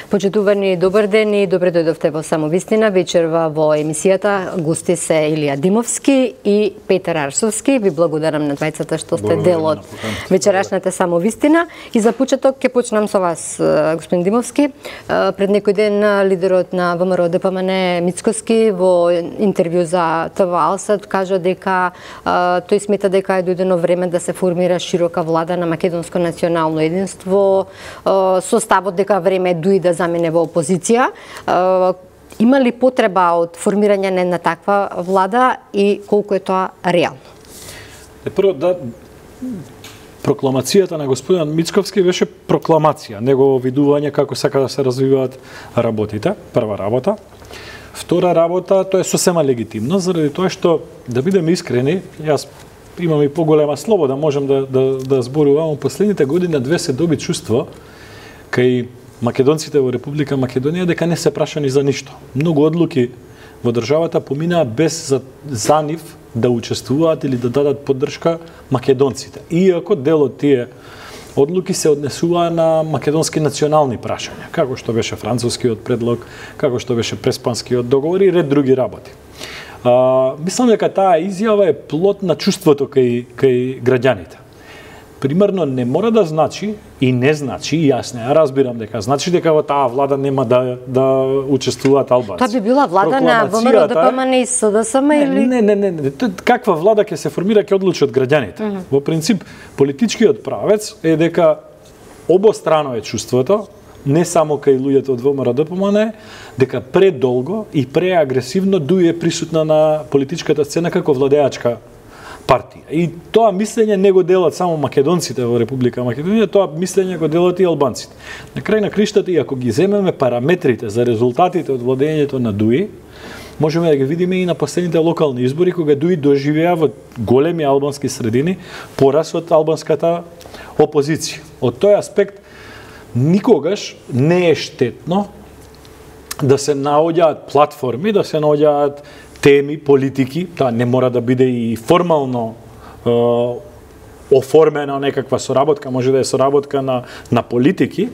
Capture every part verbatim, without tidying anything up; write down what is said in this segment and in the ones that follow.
Почитувани, добар ден и добре дојдовте во Самовистина. Вечерва во емисијата гости се Илија Димовски и Петар Арсовски. Ви благодарам на двајцата што сте дел од вечерашната Самовистина. И за почеток ќе почнам со вас, господин Димовски. Пред некој ден лидерот на ВМРО Д П М Н Мицкоски во интервју за Т В Алсат кажа дека тој смета дека е дојдено време да се формира широка влада на македонско национално единство, со ставот дека време дуи да замине во опозиција. Има ли потреба од формирање на една таква влада и колку е тоа реално? Прво, да, прокламацијата на господин Мицковски беше прокламација, негово видување како сака да се развиваат работите, прва работа. Втора работа, тоа е сосема легитимно, заради тоа што, да бидеме искрени, јас имам и поголема слобода, можем да, да, да зборувам, последните години две се доби чувство кај македонците во Република Македонија дека не се прашани за ништо. Многу одлуки во државата поминаа без за, за нив да учествуваат или да дадат поддршка македонците. Иако дел од тие одлуки се однесуваа на македонски национални прашања, како што беше францускиот предлог, како што беше преспанскиот договор и ред други работи. А, мислам дека таа изјава е плод на чувството кај, кај граѓаните. Примерно не мора да значи и не значи, и јас не разбирам дека значи дека во таа влада нема да да учествуваат албанци. Тоа би била влада на ВМРО Д П М Н и С Д С М или не, не, не, не, каква влада ќе се формира ќе одлучат граѓаните. Uh -huh. Во принцип политичкиот правец е дека обострано е чувството, не само кај луѓето од ВМРО Д П М Н, дека предолго и преагресивно дуе присутна на политичката сцена како владеачка партија. И тоа мислење не го делат само македонците во Република Македонија, тоа мислење го делат и албанците. На крај на криштата, и ако ги земеме параметрите за резултатите од владењето на ДУИ, можеме да ги видиме и на последните локални избори, кога ДУИ доживеа во големи албански средини порас од албанската опозиција. Од тој аспект, никогаш не е штетно да се наоѓаат платформи, да се наоѓаат теми, политики, таа не мора да биде и формално е, оформена некаква соработка, може да е соработка на, на политики, е,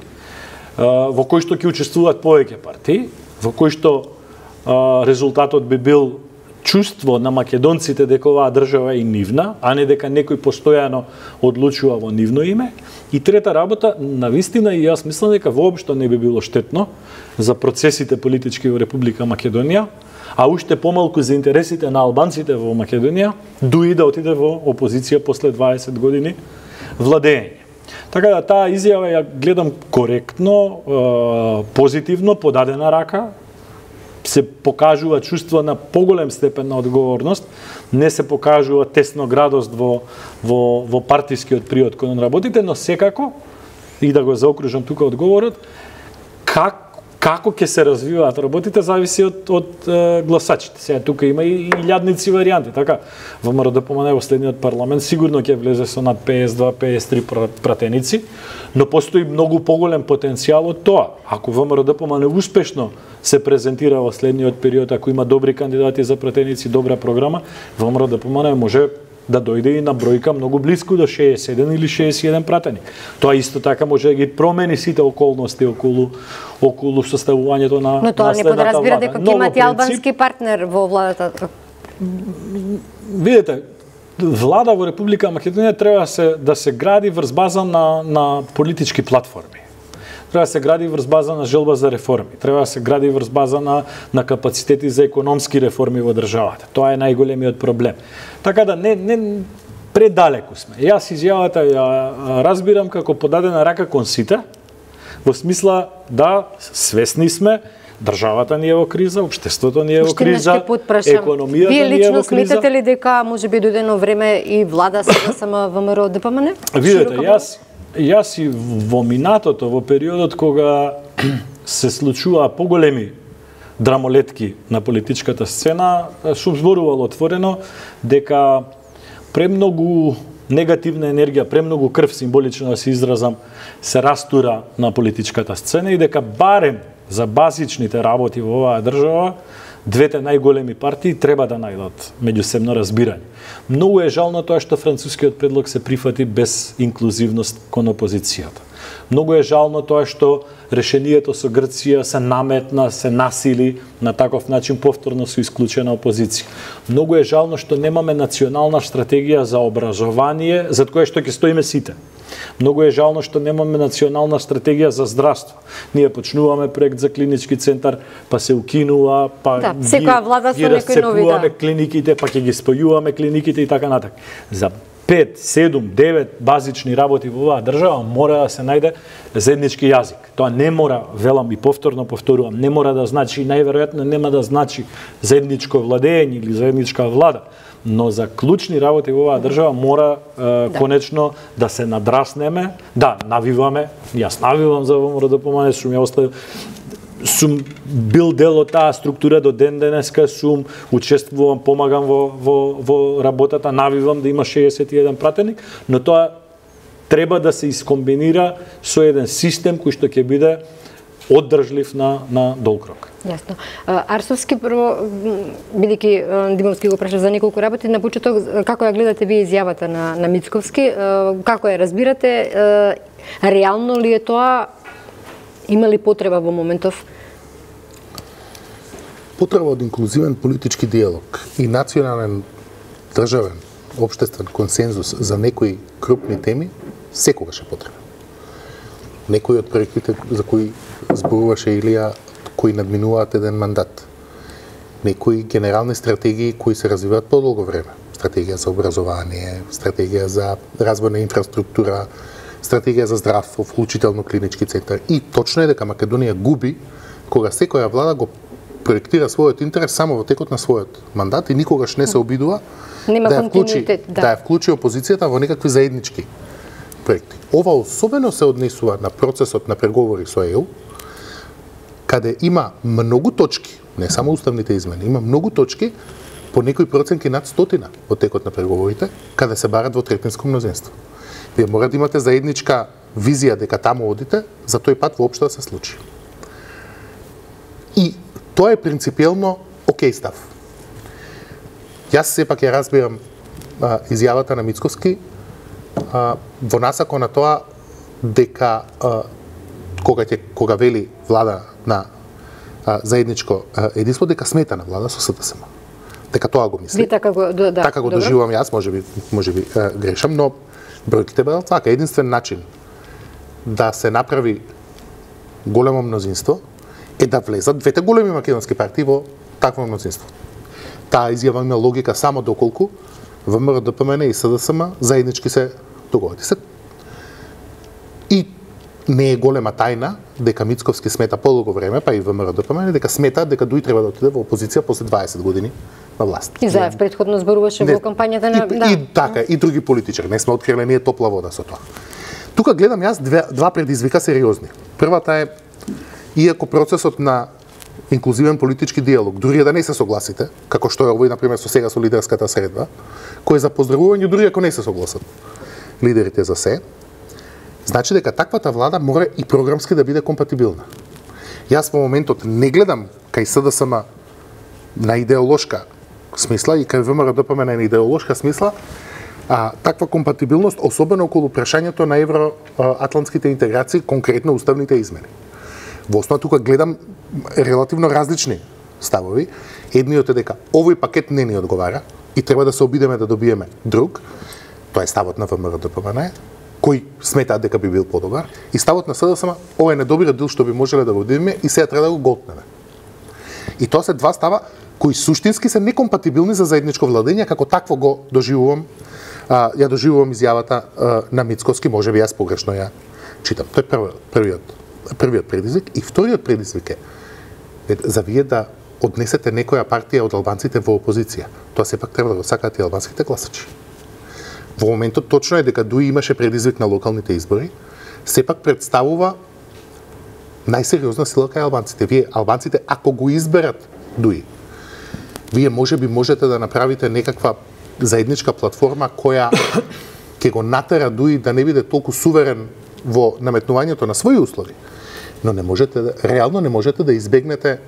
во кој што ќе учествуваат повеќе партии, во кој што е, резултатот би бил чувство на македонците дека оваа држава е нивна, а не дека некој постојано одлучува во нивно име. И трета работа, навистина, и јас мислам дека воопшто не би било штетно за процесите политички во Република Македонија, а уште помалку за интересите на албанците во Македонија, дуи да отиде во опозиција после дваесет години владење. Така да таа изјава ја гледам коректно, позитивно, подадена рака, се покажува чувство на поголем степен на одговорност, не се покажува тесноградост во, во, во партискиот приод кон работите, но секако, и да го заокружам тука одговорот, как Како ќе се развиваат работите зависи од, од е, гласачите. Сега тука има и илјадници варијанти, така ВМРО Д П М Н во следниот парламент сигурно ќе влезе со над песет и два песет и три пратеници, но постои многу поголем потенцијал од тоа. Ако ВМРО Д П М Н успешно се презентира во следниот период, ако има добри кандидати за пратеници, добра програма, ВМРО Д П М Н може да дојде и на бројка многу близко до шеесет и еден или шеесет и еден пратеник. Тоа исто така може да ги промени сите околности околу околу составувањето на Но тоа не подразбира дека ќе имате албански партнер во владата. Видете, влада во Република Македонија треба се да се гради врз база на на политички платформи. Треба да се гради врз база на желба за реформи, треба да се гради врз база на, на капацитети за економски реформи во државата. Тоа е најголемиот проблем. Така да не, не предалеку сме. Јас изјавата ја разбирам како подадена рака кон сите, во смисла да свесни сме, државата ни е во криза, општеството ни е во криза, економијата ни е во криза. Вие лично сметате ли дека може би дојдено време и влада сега сама ВМРО Д П М Н? Видете, јас Јас и во минатото, во периодот кога се случуваа поголеми драмолетки на политичката сцена, сум зборувал отворено дека премногу негативна енергија, премногу крв, символично да се изразам, се растура на политичката сцена и дека барем за базичните работи во оваа држава двете најголеми партии треба да најдат меѓусебно разбирање. Многу е жално тоа што францускиот предлог се прифати без инклузивност кон опозицијата. Многу е жално тоа што решението со Грција се наметна, се насили на таков начин повторно со исклучена опозиција. Многу е жално што немаме национална стратегија за образование, за кое што ќе стоиме сите. Многу е жално што немаме национална стратегија за здравство. Ние почнуваме проект за клинички центар, па се укинува, па да, секоја влада со некои нови, да. клиниките, па ќе ги спојуваме клиниките и така натак. За пет, седум, девет базични работи во оваа држава мора да се најде заеднички јазик. Тоа не мора, велам и повторно повторувам, не мора да значи, најверојатно нема да значи заедничко владење или заедничка влада, но за клучни работи во оваа држава мора е, да. конечно да се надраснеме, да, навиваме, јас навивам за ВМРО-ДПМНЕ, сум ја оставил, сум бил дел од таа структура до ден денеска, сум учествувам, помагам во, во, во работата, навивам да има шеесет и еден пратеник, но тоа треба да се искомбинира со еден систем кој што ќе биде оддржлив на, на долг рок. Јасно. Арсовски, прво, бидејќи Димовски го праша за неколку работи, на почеток, како ја гледате вие изјавата на, на Мицковски, како ја разбирате, реално ли е тоа, има ли потреба во моментов? Потреба од инклузивен политички диалог и национален, државен, општествен консензус за некои крупни теми, секогаш е потребен. Некои од проектите за кои зборуваше Илија, кои надминуваат еден мандат. Некои генерални стратегии кои се развиваат подолго време. Стратегија за образование, стратегија за развој на инфраструктура, стратегија за здравство, вклучително клинички центар. И точно е дека Македонија губи кога секоја влада го проектира својот интерес само во текот на својот мандат и никогаш не се обидува Нема да ја вклучи, да. да ја вклучи опозицијата во некакви заеднички проекти. Ова особено се однесува на процесот на преговори со ЕУ, каде има многу точки, не само уставните измени, има многу точки по некои проценки над стотина во текот на преговорите, каде се барат во третинско мнозинство. Вие мора да имате заедничка визија дека таму одите, за тој пат воопшто да се случи. И тоа е принципиелно окей став. Јас сепак ја разбирам а, изјавата на Мицковски а, во насако на тоа дека а, кога ќе кога вели влада на а, заедничко а, единство, дека смета на влада со СДСМ. Дека тоа го мисли. Ви така го да, да. Така го Добро. доживувам јас, можеби можеби а, грешам, но бројките бидат така. Единствен начин да се направи големо мнозинство е да влезат двете големи македонски партии во такво мнозинство. Таа изјава има логика само доколку ВМРО-ДПМН и СДСМ заеднички се договорат. И не е голема тајна дека Мицковски смета подолго време, па и ВМРО-ДПМН, дека смета дека дуи треба да отиде во опозиција после дваесет години на власт. И Заев претходно зборуваше во кампањата на... И, да. и така, и други политичари. Не сме открили ние топла вода со тоа. Тука гледам јас две, два предизвика сериозни. Првата е, иако процесот на инклузивен политички диалог, дури да не се согласите, како што е овој, например, со сега со лидерската средба, кој е за поздравување, дури ако не се согласат лидерите за се, значи дека таквата влада мора и програмски да биде компатибилна. Јас во моментот не гледам кај СДСМ на идеолошка смисла и кај ВМРО-ДПМН на идеолошка смисла, а таква компатибилност, особено околу прашањето на евроатлантските интеграции, конкретно уставните измени. Во основа тука гледам релативно различни ставови. Едниот е дека овој пакет не ни одговара и треба да се обидеме да добиеме друг. Тоа е ставот на ВМРО-ДПМН, кој сметаат дека би бил подобар, и ставот на СДСМ, ова е недобриот дел што би можеле да го видиме и сега треба да го голтнеме. И тоа се два става кои суштински се некомпатибилни за заедничко владење, како такво го доживувам, а, ја доживувам изјавата а, на Мицковски, можеби јас погрешно ја читам. Тој е првиот, првиот, првиот предизвик. И вториот предизвик е за вие да однесете некоја партија од албанците во опозиција. Тоа сепак треба да го сакаат и албанските гласачи. Во моментот точно е дека дуи имаше предизвик на локалните избори, сепак представува најсериозна сила кај албанците. Вие албанците ако го изберат дуи, вие можеби можете да направите некаква заедничка платформа која ќе го натера дуи да не биде толку суверен во наметнувањето на своји услови, но не можете да, реално не можете да избегнете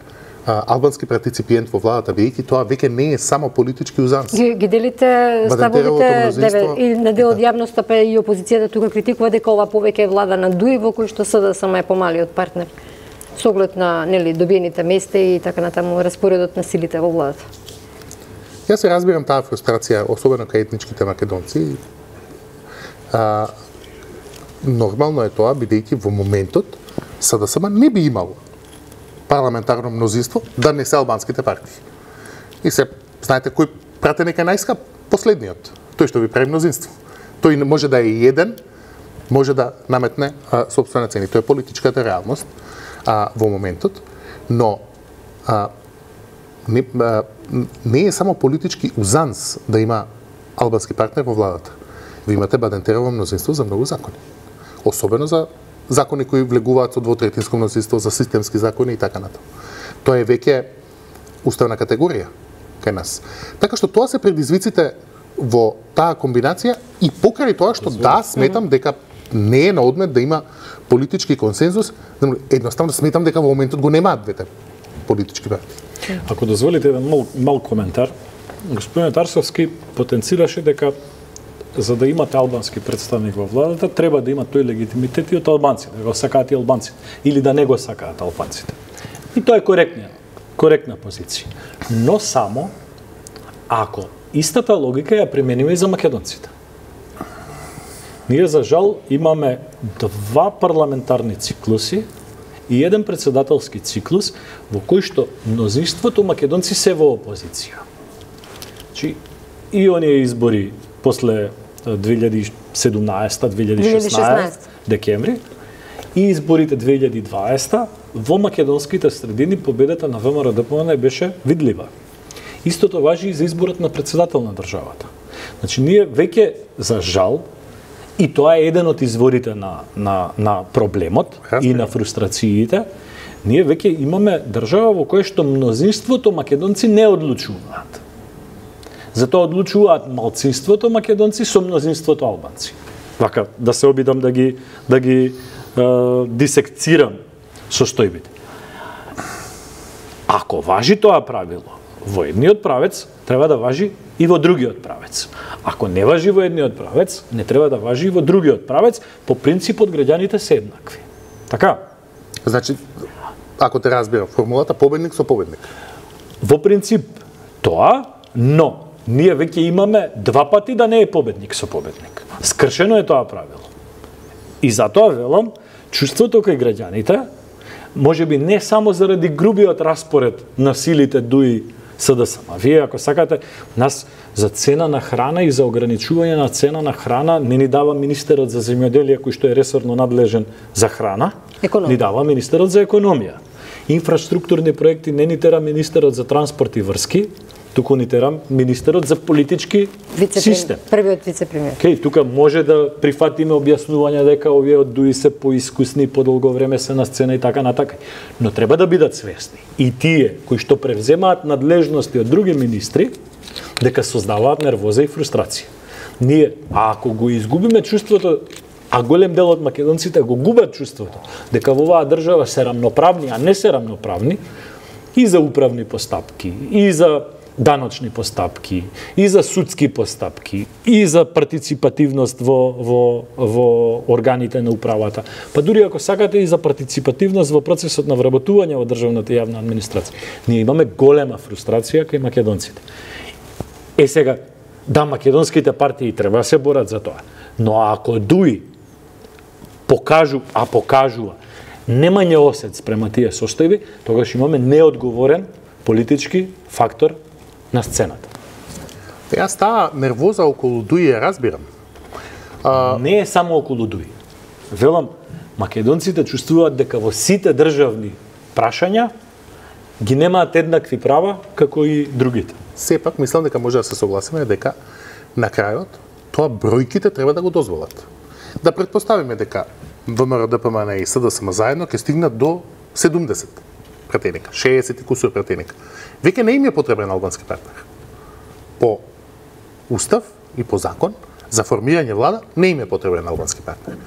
а, албански партиципиент во владата, бидејќи тоа веќе не е само политички узанс. Ги, ги делите ставовите деве, и на дел од јавноста, па и опозицијата тука критикува дека ова повеќе е влада на Дуи, во кој што СДСМ е помалиот партнер. Со оглед на, нели, добиените места и така натаму распоредот на силите во владата. Јас се разбирам таа фрустрација, особено кај етничките македонци. А, нормално е тоа, бидејќи во моментот СДСМ не би имало парламентарно мнозинство да не се албанските партии. И се, знаете, кој пратеник е најскап? Последниот. Тој што ви прави мнозинство. Тој може да е еден, може да наметне а, собствена цени. Тоа е политичката реалност а, во моментот, но а, не, а, не е само политички узанс да има албански партнер во владата. Ви имате Бадентерово мнозинство за многу закони. Особено за закони кои влегуваат со двотретинско мнозинство, за системски закони и така натаму. Тоа е веќе уставна категорија кај нас. Така што тоа се предизвиците во таа комбинација и покрај тоа што да, сметам дека не е на одмет да има политички консензус, едноставно сметам дека во моментот го немаат двете политички партии. Ако дозволите еден мал, мал коментар, господин Арсовски потенцираше дека за да имате албански представник во владата, треба да има тој легитимитет и од албанците, да го сакаат и албанците, или да не го сакаат албанците. И тоа е коректна, коректна позиција. Но само ако истата логика ја примениме и за македонците. Ние, за жал, имаме два парламентарни циклуси и еден председателски циклус во кој што мнозинството македонци се во опозиција. Значи, и оние избори после две илјади и седумнаесета две илјади и шеснаесета декември и изборите две илјади и дваесета во македонските средини победата на ВМРО-ДПМН беше видлива. Истото важи и за изборот на председател на државата. Значи, ние веќе, за жал, и тоа е еден од изворите на, на, на проблемот и на фрустрациите, ние веќе имаме држава во која што мнозинството македонци не одлучуваат. Затоа одлучуваат малцинството македонци со мнозинството албанци. Вака, да се обидам да ги, да ги е, дисекцирам состојбите. Ако важи тоа правило во едниот правец, треба да важи и во другиот правец. Ако не важи во едниот правец, не треба да важи и во другиот правец, по принципот граѓаните се еднакви. Така? Значи, ако те разбирам, формулата победник со победник. Во принцип тоа, но ние веќе имаме два пати да не е победник со победник. Скршено е тоа правило. И затоа велам, чувството кај граѓаните, можеби не само заради грубиот распоред на силите Дуи СДСМ. Вие, ако сакате, нас за цена на храна и за ограничување на цена на храна не ни дава министерот за земјоделие, кој што е ресорно надлежен за храна, економија. Ни дава министерот за економија. Инфраструктурни проекти не ни тера министерот за транспорт и врски, туку ни терам министерот за политички систем. Првиот вице-премиер. Океј, тука може да прифатиме објаснување дека овие од Дуи се поискусни, подолго време се на сцена и така натака. Но треба да бидат свесни и тие кои што превземаат надлежности од други министри, дека создаваат нервоза и фрустрација. Ние, а ако го изгубиме чувството, а голем дел од македонците го губат чувството дека во оваа држава се рамноправни, а не се рамноправни, и за управни постапки, и за даночни постапки, и за судски постапки, и за партиципативност во, во, во органите на управата. Па дури ако сакате и за партиципативност во процесот на вработување во државната јавна администрација. Ние имаме голема фрустрација кај македонците. Е сега, да, македонските партии треба да се борат за тоа, но ако Дуи покажу, а покажува, немање осет спрема тие состојби, тогаш имаме неодговорен политички фактор на сцената. Јас таа нервоза околу Дуи ја разбирам. А... Не е само околу Дуи. Велам, македонците чувствуваат дека во сите државни прашања ги немаат еднакви права како и другите. Сепак, мислам дека може да се согласиме дека на крајот тоа бројките треба да го дозволат. Да претпоставиме дека ВМРО-ДПМН и СДСМ заедно ќе стигнат до седумдесет пратеника, шеесет и кусур пратеника. Веќе не им е потребен албански партнер. По устав и по закон за формирање влада не им е потребен албански партнер.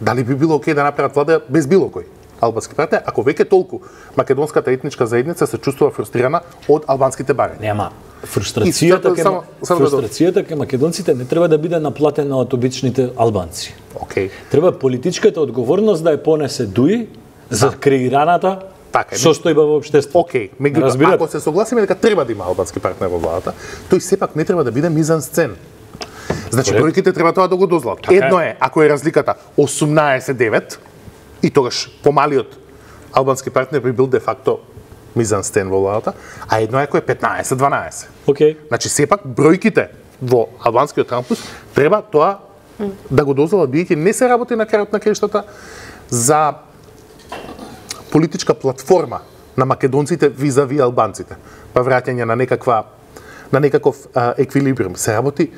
Дали би било окей да направат влада без било кој? албански партнери, ако веќе толку македонската етничка заедница се чувствува фрустрирана од албанските барања. Нема. Фрустрацијата ке само, само фрустрацијата ке македонците не треба да биде наплатена од обичните албанци. Океј. Треба политичката одговорност да ја понесе Дуи за креираната така е. состојба во општеството. Океј, меѓутоа ако се согласиме дека треба да има албански партнер во владата, тој сепак не треба да биде мизансцен. Значи бројките треба тоа да го дозволат. Така Едно е ако е разликата осумнаесет девет и тогаш помалиот албански партнер би бил де факто мизансцен во владата, а едно е ако е петнаесет дванаесет. Океј. Значи сепак бројките во албанскиот кампус треба тоа да го дозволат, бидејќи не се работи на крајот на краиштата за политичка платформа на македонците визави албанците, па враќање на некаква на некаков а, еквилибриум. Се работи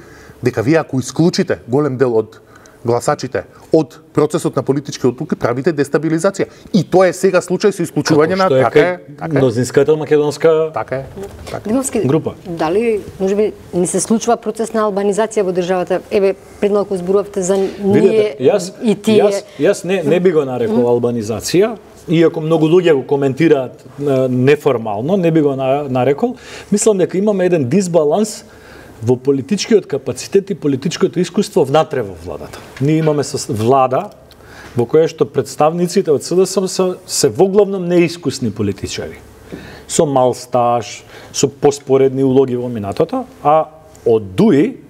дека вие ако исклучите голем дел од гласачите од процесот на политички одлуки, правите дестабилизација. И тоа е сега случај со исклучување на е така е, така е. мнозинската македонска Така е. Така. Димовски, група. Дали можеби не се случува процес на албанизација во државата? Еве пред малку зборувавте за ние Видете, јас, и тие. Јас, јас не, не би го нарекол албанизација, иако многу луѓе го коментираат неформално, не би го нарекол. Мислам дека имаме еден дисбаланс во политичкиот капацитет и политичкото искуство внатре во владата. Ние имаме влада во која што представниците од СДСМ се, се воглавно неискусни политичари. Со мал стаж, со поспоредни улоги во минатото, а од Дуи,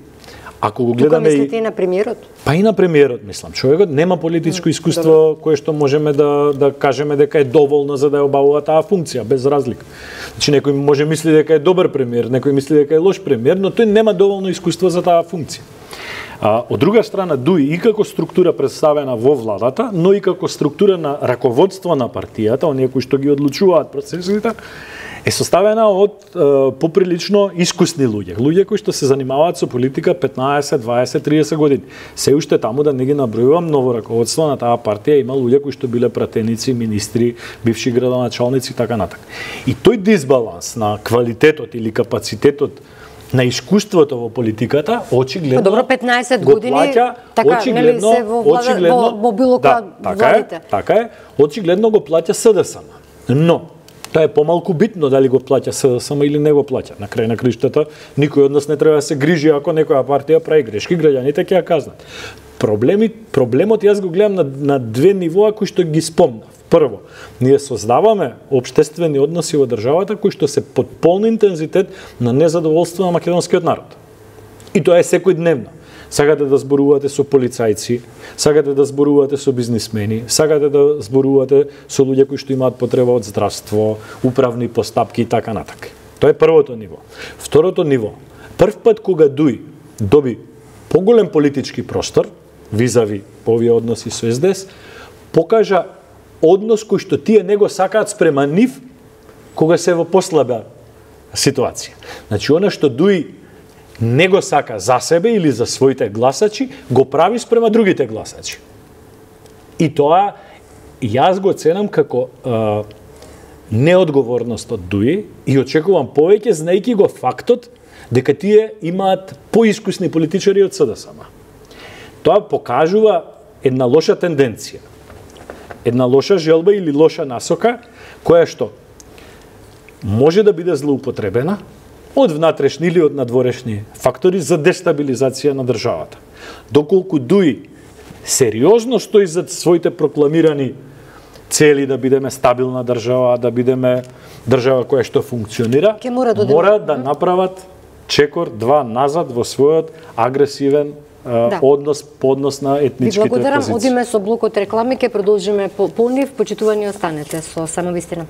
ако го гледаме... Тука мислите и на премиерот? Па и на премиерот, мислам. Човекот нема политичко искуство кое што можеме да, да кажеме дека е доволно за да ја обавува таа функција, без разлика. Значи, некој може мисли дека е добар премиер, некој мисли дека е лош премиер, но тој нема доволно искуство за таа функција. А, од друга страна, Дуи и како структура представена во владата, но и како структура на раководство на партијата, оние кои што ги одлучуваат процесите, е составена од е, поприлично искусни луѓе. Луѓе кои што се занимаваат со политика петнаесет, дваесет, триесет години. Се уште таму да не ги набројувам, ново раководство на таа партија има луѓе кои што биле пратеници, министри, бивши градоначалници и така натака. И тој дисбаланс на квалитетот или капацитетот на искуството во политиката, очигледно Добро, петнаесет го години, плаќа, така, очигледно, нели се во, влада, очигледно, во, во било која да, така владите. е, така е, очигледно го плаќа СДСМ. Но тоа е помалку битно дали го плаќа СДСМ или не го плаќа. На крај на криштата никој од нас не треба да се грижи ако некоја партија прави грешки, граѓаните ќе ја казнат. Проблеми, проблемот јас го гледам на, на две нивоа кои што ги спомнав. Прво, ние создаваме општествени односи во државата кои што се под полн интензитет на незадоволство на македонскиот народ. И тоа е секојдневно. Сакате да зборувате со полицајци, сакате да зборувате со бизнисмени, сакате да зборувате со луѓе кои што имаат потреба од здравство, управни постапки и така натака. Тоа е првото ниво. Второто ниво. Прв пат кога Дуи доби поголем политички простор, визави овие односи со СДС, покажа однос кој што тие не го сакаат спрема нив кога се во послаба ситуација. Значи, она што Дуи не го сака за себе или за своите гласачи, го прави спрема другите гласачи. И тоа јас го ценам како е, неодговорност од Дуи и очекувам повеќе, знаејќи го фактот дека тие имаат поискусни политичари од СДСМ. Тоа покажува една лоша тенденција, една лоша желба или лоша насока, која што може да биде злоупотребена од внатрешни или од надворешни фактори за дестабилизација на државата. Доколку Дуи сериозно стои за своите прокламирани цели да бидеме стабилна држава, да бидеме држава која што функционира, мора да, мора да направат чекор два назад во својот агресивен да. однос по однос на етничките позиции. Ви благодарам, одиме со блокот реклами, ќе продолжиме по полнив, почитување останете со Само вистина.